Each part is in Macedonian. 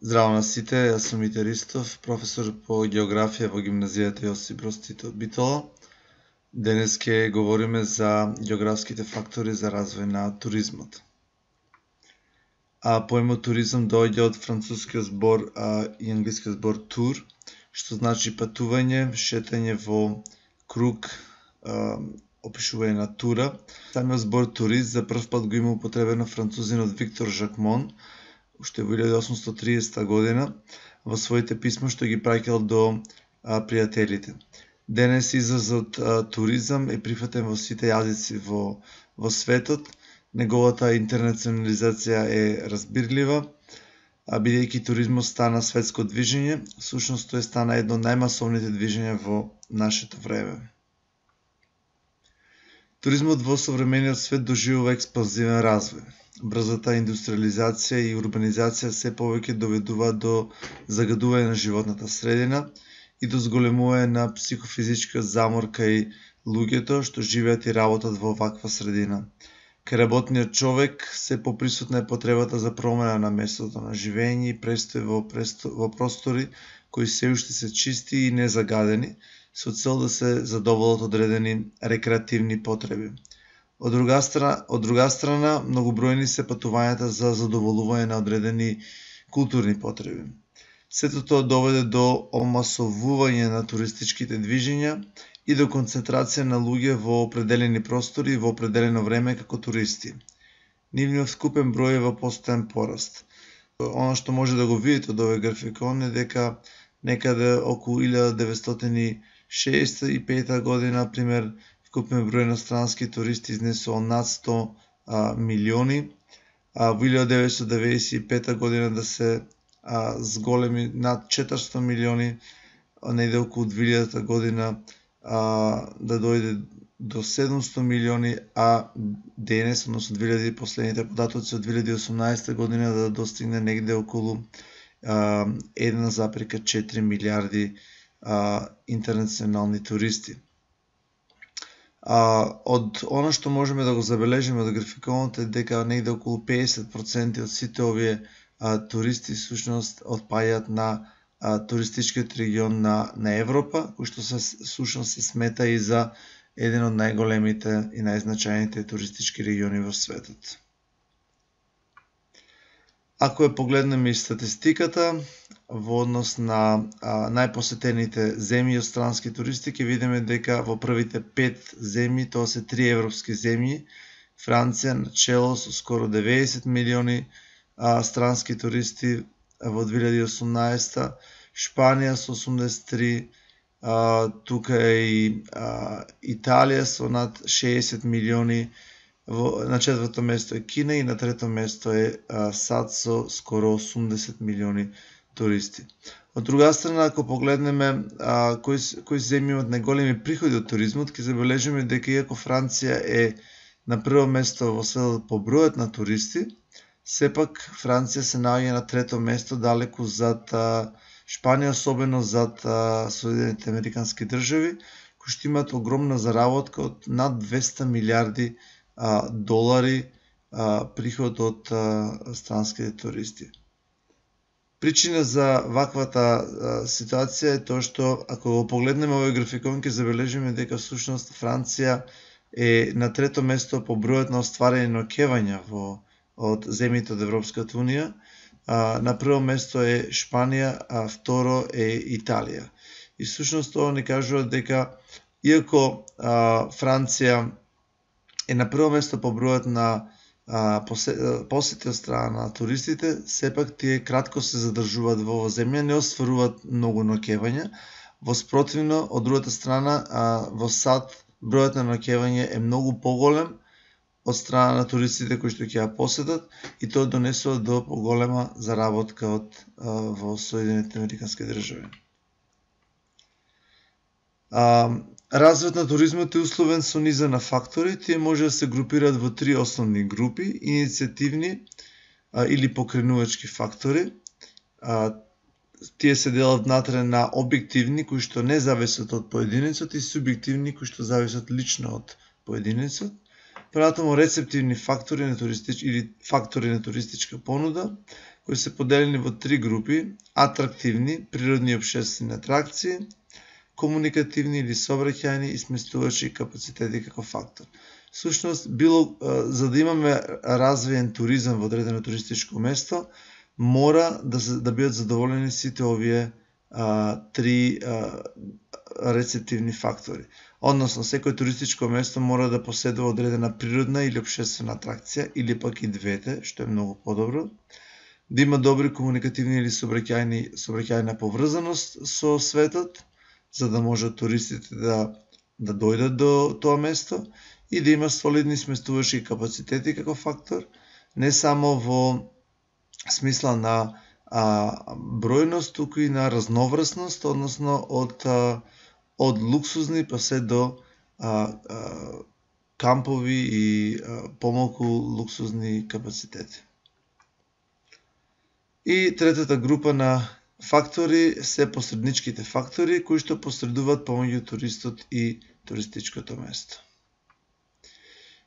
Здраво на сите, јас сум Мите Ристов, професор по географија во гимназијата Јосип Броз Тито Битола. Денес ќе говориме за географските фактори за развој на туризмот. Поемот туризам доаѓа од францускиот збор и англискиот збор tour, што значи патување, шетање во круг, опишување на тура. Самиот збор турист за прв пат го има употребено французинот Виктор Жакмон, уште во 1830 година, во своите писма што ги праќал до пријателите. Денес изразот туризам е прифатен во сите јазици во светот. Неговата интернационализација е разбирлива, бидејќи туризмот стана светско движење, всушност тој стана едно од најмасовните движења во нашето време. Туризмот во современиот свет доживува експанзивен развој. Брзата индустриализација и урбанизација се повеќе доведуваат до загадување на животната средина и до зголемување на психофизичкиот замор кај луѓето што живеат и работат во ваква средина. Кај работниот човек се поприсутна е потребата за промена на местото на живење и престој во простори кои се уште се чисти и незагадени, со цел да се задоволат одредени рекреативни потреби. Од друга страна, многобројни се патувањата за задоволување на одредени културни потреби. Сето тоа доведе до омасовување на туристичките движења и до концентрација на луѓе во определени простори и во определено време како туристи. Нивниот вкупен број е во постојан пораст. Она што може да го видите од овој графикон е дека некаде околу 1965 година, пример, вкупен број на странски туристи изнесува над 100 милиони, во 1995 година да се зголеми над 400 милиони, неде околу 2000 година да дојде до 700 милиони, а денес, односно 2000 последните податоци од 2018 година да достигне негде околу 1,4 милиарди интернационални туристи. Од оно што можеме да го забележиме од графиконот е дека негде околу 50% од сите овие туристи всушност отпаѓаат на туристичкиот регион на Европа, кој што всушност се смета и за еден од најголемите и најзначајните туристички региони во светот. Ако ја погледнеме и статистиката во однос на најпосетените земји од странски туристи, ќе видиме дека во првите 5 земји, тоа се 3 европски земји, Франција на чело со скоро 90 милиони странски туристи во 2018, Шпанија со 83, тука е и Италија со над 60 милиони, на четврто место е Кина и на трето место е САД со скоро 80 милиони туристи. Од друга страна, ако погледнеме кои земји имаат најголеми приходи од туризмот, ќе забележиме дека иако Франција е на прво место во светот по бројот на туристи, сепак Франција се наоѓа на трето место далеку зад Шпанија, особено зад Соединените Американски држави, кои што имаат огромна заработка од над 200 милиарди долари приход од странските туристи. Причина за ваквата ситуација е тоа што, ако го погледнеме овој графикон, ќе забележиме дека всушност Франција е на трето место по бројот на остварени ноќевања од земјите од Европската унија. На прво место е Шпанија, а второ е Италија. И всушност тоа ни кажува дека иако Франција е на прво место по бројот на посети од страна на туристите, сепак тие кратко се задржуваат во оваа земја, не остваруваат многу ноќевања. Воспротивно, од другата страна, во САД бројот на ноќевање е многу поголем од страна на туристите кои што ќе ја посетат и тоа донесува до поголема заработка во Соединените Американски држави. Развојот на туризмот е условен со низа на фактори. Тие може да се групираат во 3 основни групи: иницијативни или покренувачки фактори. Тие се делат внатре на објективни кои што не зависат од поединецот и субјективни кои што зависат лично од поединецот. Понатаму рецептивни фактори на туристичка понуда кои се поделени во три групи: атрактивни, природни и општествени атракции, комуникативни или сообраќајни и сместувачи капацитети како фактор. Всушност, за да имаме развиен туризам во одредено туристичко место, мора да бидат задоволени сите овие три рецептивни фактори. Односно, секој туристичко место мора да поседува одредена природна или општествена атракција, или пак и двете, што е многу подобро. Да има добри комуникативни или сообраќајна поврзаност со светот, за да можат туристите да дојдат до тоа место, и да има солидни сместувачки капацитети како фактор, не само во смисла на бројност, туку и на разноврсност, односно од луксузни па се до кампови и помалку луксузни капацитети. И третата група на фактори се посредничките фактори, кои што посредуваат помеѓу туристот и туристичкото место.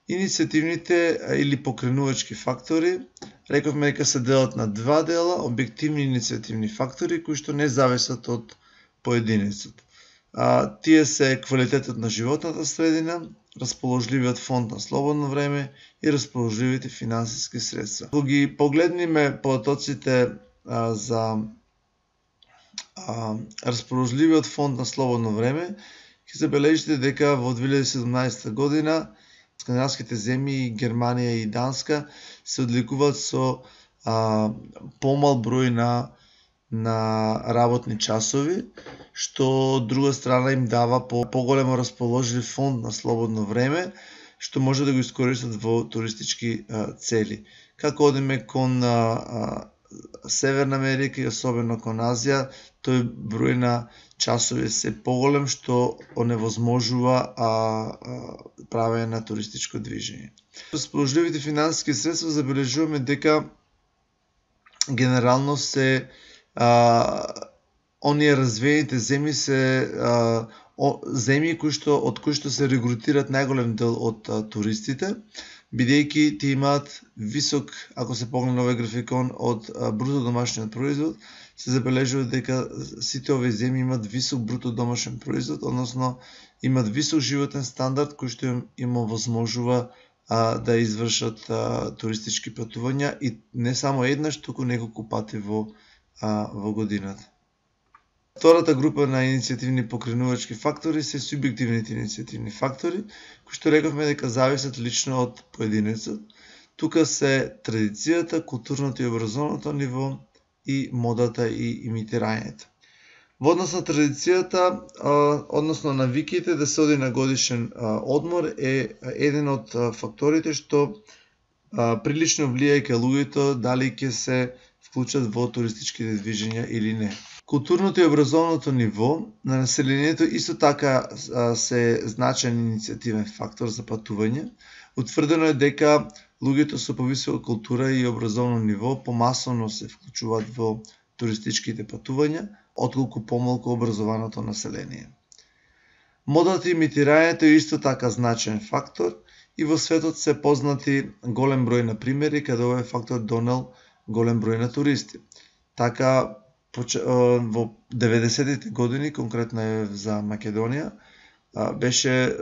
Иницијативните или покренувачки фактори, рековме дека се делат на два дела: објективни и иницијативни фактори, кои што не зависат од поединецот. Тие се квалитетот на животната средина, расположливиот фонд на слободно време и расположливите финансиски средства. Кога ги погледниме потоците за расположливиот фонд на слободно време, ќе забележите дека во 2017 година скандинавските земји, Германија и Данска, се одликуваат со помал број на работни часови, што од друга страна им дава поголемо расположлив фонд на слободно време, што може да го искористат во туристички цели. Како одиме кон Северна Америка и особено кон Азија, тој број на часови се поголем, што оневозможува правење на туристичко движење. Расположливите финансиски средства забележуваме дека генерално се оние развиените земји се земји од кои што се регрутираат најголем дел од туристите, бидејќи тие имаат висок, ако се погледне овој графикон, од бруто домашниот производ, се забележува дека сите овие земји имаат висок бруто домашен производ, односно имаат висок животен стандард кој што им овозможува да извршат туристички патувања, и не само еднаш, туку неколку пати во годината. Втората група на иницијативни покренувачки фактори се субјективните иницијативни фактори, кои што рековме дека зависат лично од поединецот. Тука се традицијата, културното и образовното ниво и модата и имитирањето. Во однос на традицијата, односно навиките да се оди на годишен одмор, е еден од факторите што прилично влијае кај луѓето дали ќе се вклучат во туристичките движења или не. Културното и образовното ниво на населението исто така се значаен иницијативен фактор за патување. Утврдено е дека луѓето со повисока култура и образовно ниво помасовно се вклучуваат во туристичките патувања, отколку помалку образованото население. Модата и имитирањето е исто така значаен фактор и во светот се познати голем број на примери каде овој фактор донел голем број на туристи. Така, во 90-тите години, конкретно е за Македонија, беше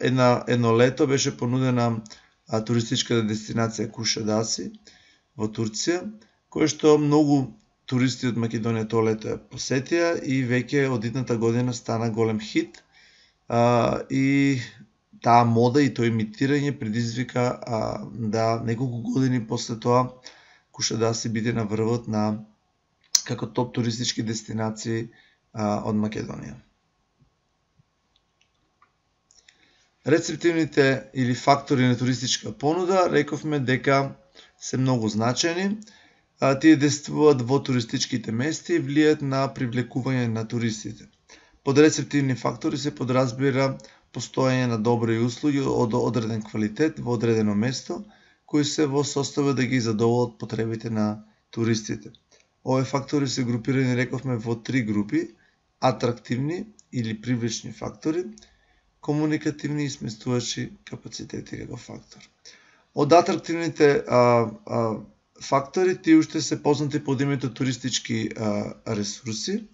едно лето беше понудена туристичка дестинација Кушадаси во Турција, која што многу туристи од Македонија тоа лето ја посетија и веќе од идната година стана голем хит, и таа мода и тоа имитирање предизвика да неколку години после тоа Кушадаси биде на врвот на како топ туристички дестинации од Македонија. Рецептивните или фактори на туристичка понуда, рековме дека се многу значајни. Тие действуваат во туристичките места и влијаат на привлекување на туристите. Под рецептивни фактори се подразбира постоење на добри услуги од одреден квалитет во одредено место, кои се во состојба да ги задоволат потребите на туристите. Овие фактори се групирани, рековме, во три групи: атрактивни или привлечни фактори, комуникативни и сместувачи капацитети како фактор. Од атрактивните фактори, тие уште се познати под името туристички ресурси,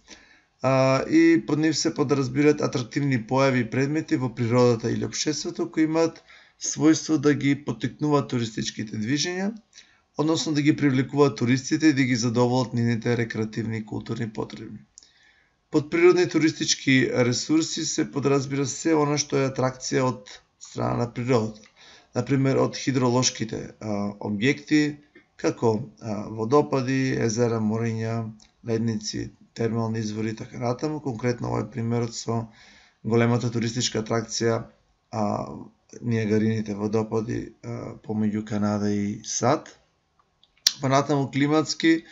и под нив се подразбираат атрактивни појави и предмети во природата или општеството кои имаат својство да ги поттикнуваат туристичките движења, односно да ги привлекуваат туристите и да ги задоволат нивните рекреативни и културни потреби. Под природни туристички ресурси се подразбира се она што е атракција од страна на природата. Например, од хидролошките објекти, како водопади, езера, мориња, ледници, термални извори и така натаму. Конкретно овој примерот со големата туристичка атракција Нијагарините водопади помеѓу Канада и САД. Понатаму климатски,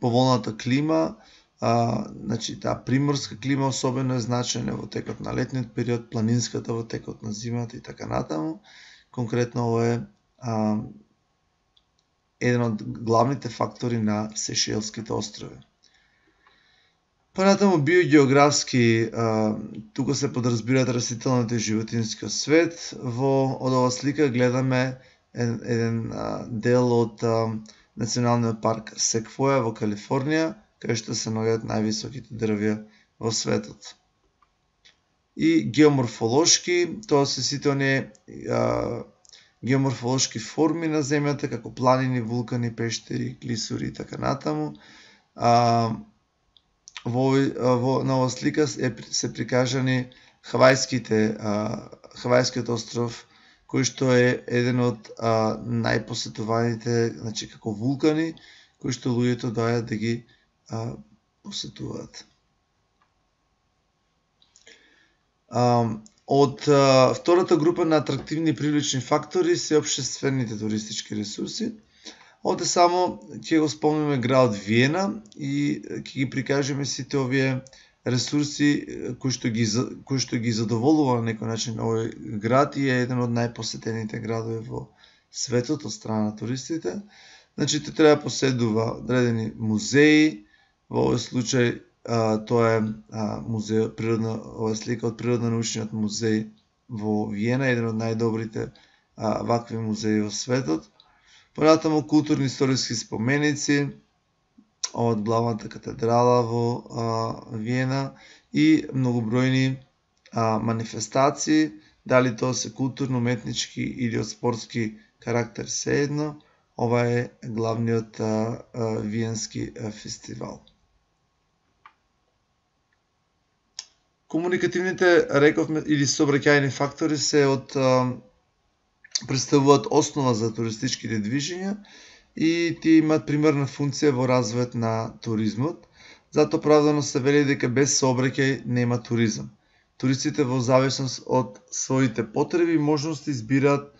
поволната клима, значи таа приморска клима особено е значена во текот на летниот период, планинската во текот на зимата и така натаму. Конкретно ова е еден од главните фактори на Сешелските острови. Понатаму биогеографски, тука се подразбираат растителниот и животинскиот свет. Од ова слика гледаме еден дел од Националниот парк Секвоја во Калифорнија, каде што се наоѓаат највисоките дрвја во светот. И геоморфолошки, тоа се сите оние геоморфолошки форми на земјата, како планини, вулкани, пештери, клисури и така натаму. На оваа слика се прикажани Хавајскиот остров, кој што е еден од најпосетуваните, значи како вулкани, кои што луѓето доаѓаат да ги посетуваат. Од втората група на атрактивни и привлечни фактори се општествените туристички ресурси. Овде само ќе го спомнеме градот Виена и ќе ги прикажеме сите овие ресурси кои што ги задоволува на некој начин овој град и е еден од најпосетените градови во светот од страна на туристите. Значи, те треба поседува одредени музеи, во овој случај тоа е музеј ова слика од Природно-научниот музеј во Виена, еден од најдобрите вакви музеи во светот. Понатаму културни историски споменици од главната катедрала во Виена и многобројни манифестации, дали тоа се културно, уметнички или од спортски карактер, сеедно. Ова е главниот виенски фестивал. Комуникативните, рековме, или сообраќајни фактори се представуваат основа за туристичките движења и тие имаат примерна функција во развојот на туризмот. Затоа оправдано се вели дека без сообраќај нема туризам. Туристите во зависност од своите потреби и можности избираат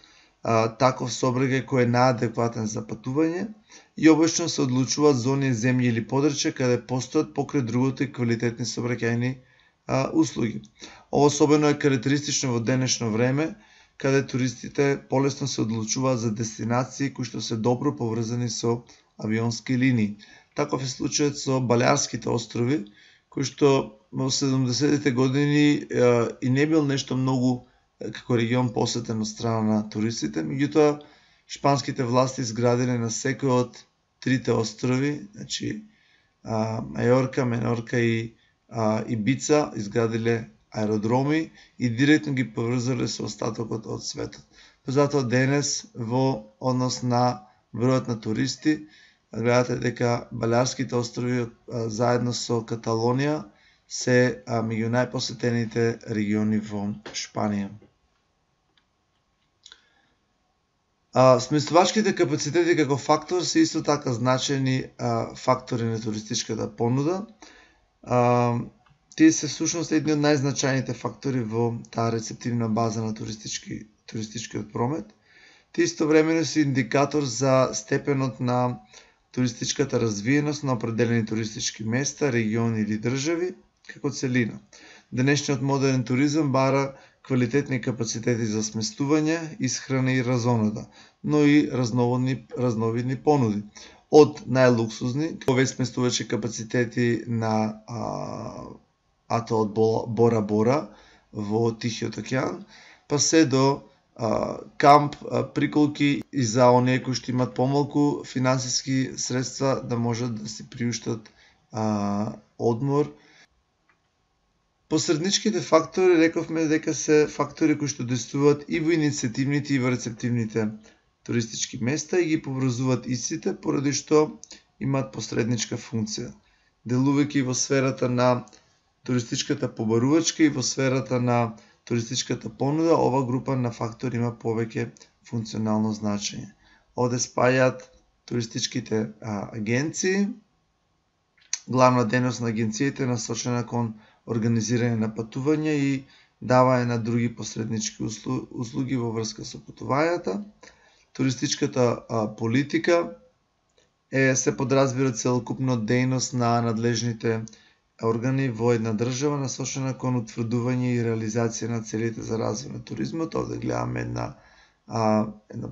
таков сообраќај кој е наадекватен за патување и обично се одлучуваат за оние земји или подрачја каде постојат покрај другото и квалитетни сообраќајни услуги. Ова особено е карактеристично во денешно време, каде туристите полесно се одлучуваат за дестинации кои што се добро поврзани со авионски линии. Таков е случајот со Балеарските острови, кои што во 70-тите години и не бил нешто многу како регион посетен од страна на туристите, меѓутоа шпанските власти изградиле на секој од трите острови, значи Мајорка, Менорка и Ибица, изградиле аеродроми и директно ги поврзале со остатокот од светот. Затоа денес во однос на бројот на туристи, гледате дека Балеарските острови заедно со Каталонија се меѓу најпосетените региони во Шпанија. Сместувачките капацитети како фактор се исто така значени фактори на туристичката понуда. Тие се всушност едни од најзначајните фактори во таа рецептивна база на туристичкиот промет. Тие истовремено се индикатор за степенот на туристичката развиеност на определени туристички места, региони или држави како целина. Денешниот модерен туризам бара квалитетни капацитети за сместување, исхрана и разонода, но и разновидни понуди. Од најлуксузни, овие сместувачки капацитети на атолот Бора Бора во Тихиот океан, па се до камп, приколки и за оние кои што имат помалку финансиски средства да можат да си приуштат одмор. Посредничките фактори, рековме дека се фактори кои што действуваат и во иницијативните и во рецептивните туристички места и ги поврзуваат истите, поради што имаат посредничка функција. Делувајќи во сферата на туристичката побарувачка и во сферата на туристичката понуда, ова група на фактори има повеќе функционално значење. Овде спајаат туристичките агенции. Главна дејност на агенциите е насочена кон организирање на патување и давање на други посреднички услуги во врска со патувањата. Туристичката политика се подразбира целокупно дејност на надлежните органи во една држава насочена кон утврдување и реализација на целите за развој на туризмот. Овде гледаме една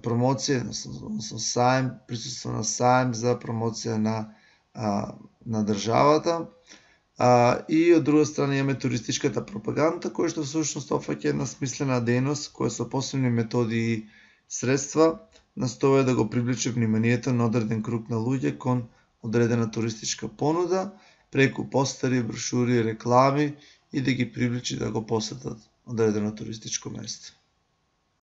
промоција, односно саем, присуство на саем за промоција на државата. И од друга страна имаме туристичката пропаганда, која што всушност опфаќа една смислена дејност која со посебни методи и средства настоја да го привлече вниманието на одреден круг на луѓе кон одредена туристичка понуда, преку постери, брошури, реклами и да ги привлече да го посетат одредено туристичко место.